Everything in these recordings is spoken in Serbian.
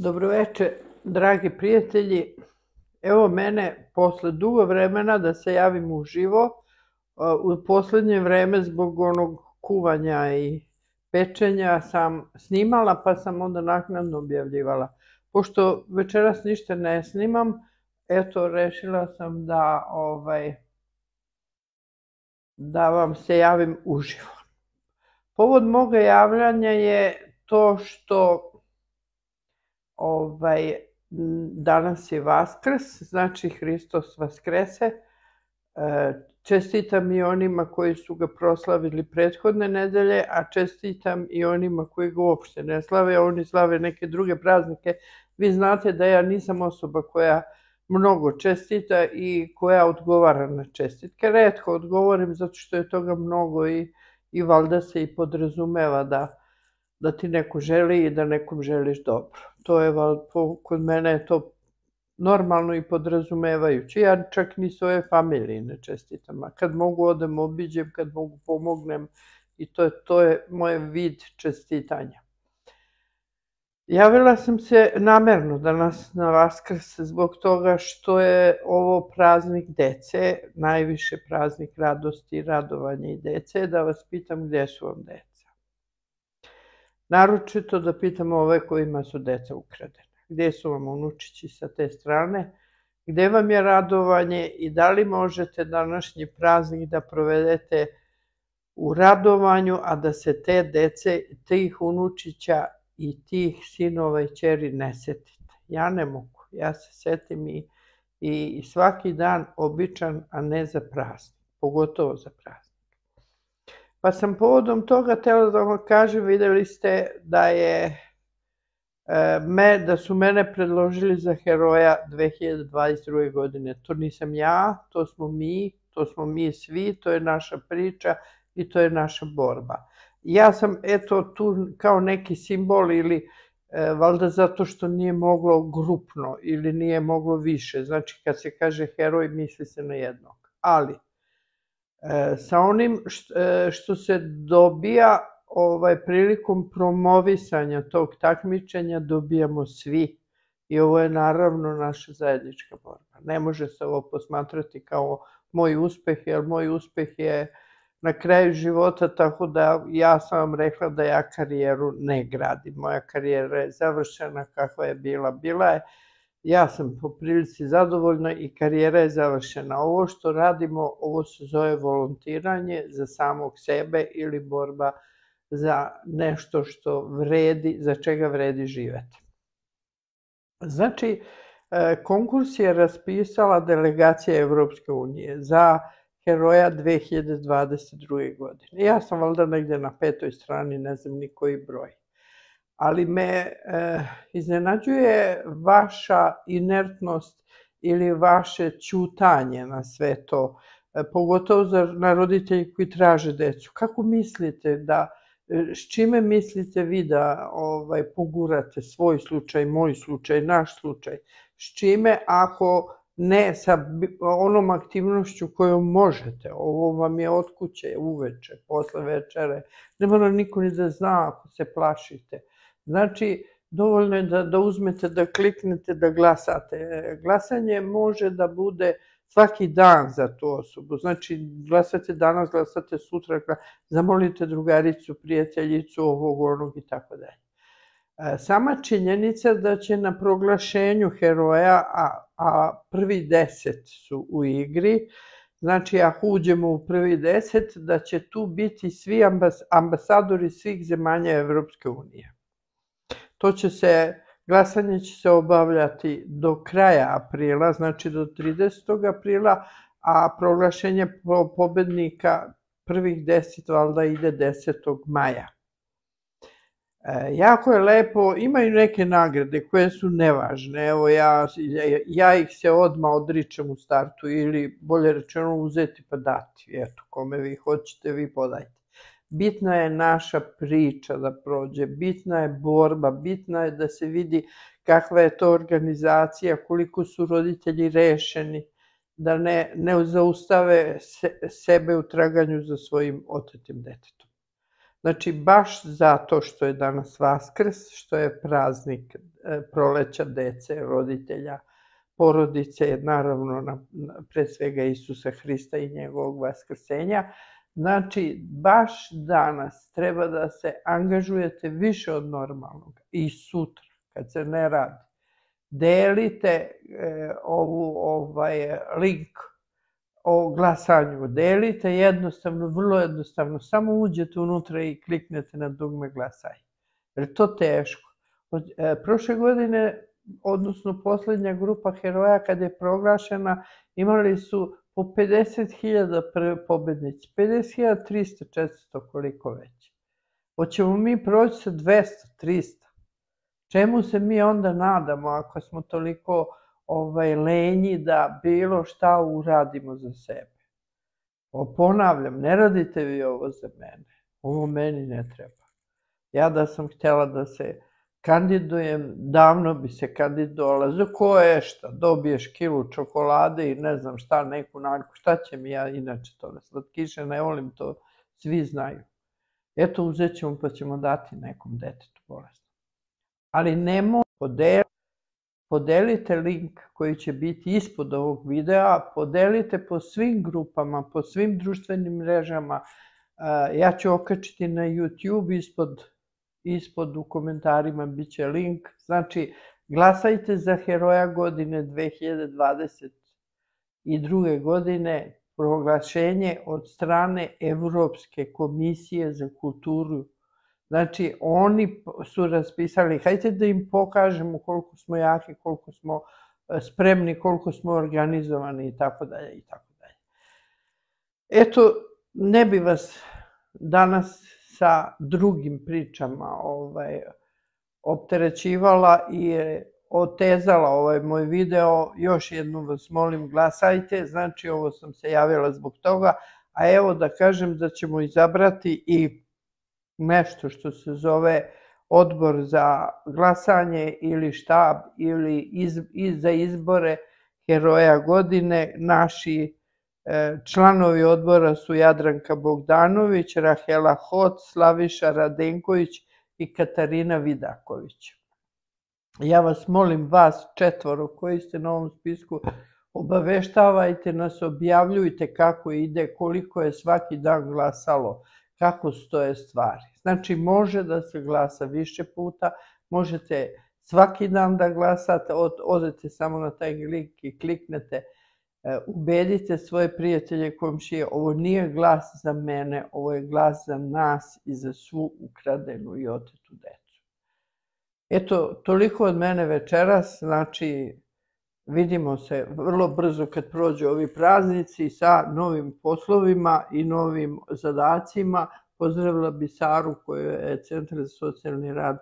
Dobroveče, dragi prijatelji. Evo mene posle dugo vremena da se javim uživo. U poslednje vreme zbog onog kuvanja i pečenja sam snimala, pa sam onda naknadno objavljivala. Pošto večeras ništa ne snimam, eto, rešila sam da vam se javim uživo. Povod moga javljanja je to što danas je Vaskrs, znači Hristos Vaskrese. Čestitam i onima koji su ga proslavili prethodne nedelje, a čestitam i onima koji ga uopšte ne slave, a oni slave neke druge praznike. Vi znate da ja nisam osoba koja mnogo čestita i koja odgovara na čestitke. Retko odgovorim zato što je toga mnogo i valjda se i podrazumeva da ti neko želi i da nekom želiš dobro. To je, kod mene je to normalno i podrazumevajuće. Ja čak ni svoje familije ne čestitam, a kad mogu odem obiđem, kad mogu pomognem i to je moj vid čestitanja. Javila sam se namerno danas na Vaskrs zbog toga što je ovo praznik dece, najviše praznik radosti, radovanja i dece, da vas pitam gdje su vam deca. Naročito da pitam ove kojima su deca ukradena. Gdje su vam unučići sa te strane? Gdje vam je radovanje i da li možete današnji praznik da provedete u radovanju, a da se te dece, tih unučića i tih sinova i ćeri ne setite? Ja ne mogu. Ja se setim i svaki dan običan, a ne za praznik. Pogotovo za praznik. Pa sam povodom toga htjela da vam kažem, vidjeli ste da su mene predložili za heroja 2022. godine. To nisam ja, to smo mi svi, to je naša priča i to je naša borba. Ja sam eto tu kao neki simbol ili valjda zato što nije moglo grupno ili nije moglo više. Znači kad se kaže heroj misli se na jednog. Ali sa onim što se dobija prilikom promovisanja tog takmičenja dobijamo svi i ovo je naravno naša zajednička borba. Ne može se ovo posmatrati kao moj uspeh, jer moj uspeh je na kraju života, tako da ja sam vam rekla da ja karijeru ne gradim. Moja karijera je završena, kakva je bila je. Ja sam po prilici zadovoljna i karijera je završena. Ovo što radimo, ovo se zove volontiranje za samog sebe ili borba za nešto što vredi, za čega vredi živeti. Znači, konkurs je raspisala delegacija Evropske unije za heroja 2022. godine. Ja sam valjda negde na 5. strani, ne znam ni koji broj. Ali me iznenađuje vaša inertnost ili vaše ćutanje na sve to, pogotovo na roditelji koji traže decu. Kako mislite s čime mislite vi da pogurate svoj slučaj, moj slučaj, naš slučaj? S čime ako ne sa onom aktivnošću kojom možete? Ovo vam je od kuće, uveče, posle večere. Ne mora niko ni da zna ako se plašite. Znači, dovoljno je da uzmete, da kliknete, da glasate. Glasanje može da bude svaki dan za tu osobu. Znači, glasate danas, glasate sutra, zamolite drugaricu, prijateljicu, ovog, onog i tako dalje. Sama činjenica da će na proglašenju heroja, a prvi 10 su u igri, znači ako uđemo u prvi 10, da će tu biti svi ambasadori svih zemalja Evropske unije. Glasanje će se obavljati do kraja aprila, znači do 30. aprila, a proglašenje pobednika prvih 10 valjda ide 10. maja. Jako je lepo, imaju neke nagrade koje su nevažne, evo ja ih se odmah odričem u startu ili bolje rečeno uzeti pa dati, eto kome vi hoćete vi podajte. Bitna je naša priča da prođe, bitna je borba, bitna je da se vidi kakva je to organizacija, koliko su roditelji rešeni, da ne zaustave sebe u traganju za svojim otetim detetom. Znači, baš zato što je danas Vaskrs, što je praznik proleća dece, roditelja, porodice, naravno pre svega Isusa Hrista i njegovog vaskrsenja. Znači, baš danas treba da se angažujete više od normalnog i sutra, kad se ne radi. Delite link o glasanju, delite jednostavno, vrlo jednostavno, samo uđete unutra i kliknete na dugme glasaj. Jer je to teško. Prošle godine, odnosno poslednja grupa heroja kad je proglašena, imali su po 50.000 pobednici, 50.300, 400, koliko već. Hoćemo mi proći sa 200, 300. Čemu se mi onda nadamo ako smo toliko lenji da bilo šta uradimo za sebe? Ponavljam, ne radite vi ovo za mene. Ovo meni ne treba. Ja da sam htjela da se kandidujem, davno bi se kandidovala. Za koje šta? Dobiješ kilu čokolade i ne znam šta, neku naljku. Šta će mi ja inače toga? Slatkiše ne volim, to svi znaju. Eto, uzet ćemo pa ćemo dati nekom detetu bolest. Ali nemoj podelite link koji će biti ispod ovog videa, podelite po svim grupama, po svim društvenim mrežama. Ja ću okačiti na YouTube, ispod u komentarima bit će link. Znači, glasajte za heroja godine 2022. godine, proglašenje od strane Evropske komisije za kulturu. Znači, oni su raspisali, hajde da im pokažemo koliko smo jaki, koliko smo spremni, koliko smo organizovani i tako dalje i tako dalje. Eto, ne bi vas danas sa drugim pričama opterećivala i otezala ovaj moj video. Još jednom vas molim, glasajte, znači ovo sam se javila zbog toga, a evo da kažem da ćemo izabrati i nešto što se zove odbor za glasanje ili štab ili za izbore heroja godine. Naši članovi odbora su Jadranka Bogdanović, Rahela Hot, Slaviša Radenković i Katarina Vidaković. Ja vas molim, vas 4 koji ste na ovom spisku, obaveštavajte nas, objavljujte kako ide, koliko je svaki dan glasalo, kako stoje stvari. Znači, može da se glasa više puta, možete svaki dan da glasate, odete samo na taj link i kliknete, ubedite svoje prijatelje, komšije, ovo nije glas za mene, ovo je glas za nas i za svu ukradenu i otetu decu. Eto, toliko od mene večeras, znači, vidimo se vrlo brzo kad prođu ovi praznici sa novim poslovima i novim zadacima. Pozdravila bi Saru koju je Centar za socijalni rad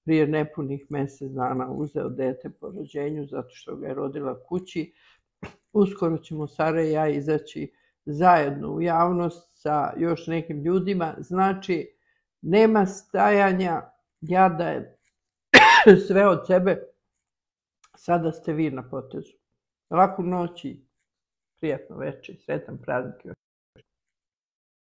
prije nepunih mesec dana uzeo dete po rođenju zato što ga je rodila kući. Uskoro ćemo Sara i ja izaći zajedno u javnost sa još nekim ljudima. Znači, nema stajanja, ja dajem sve od sebe, sada ste vi na potezu. Laku noć i prijatno večer, sretan praznik.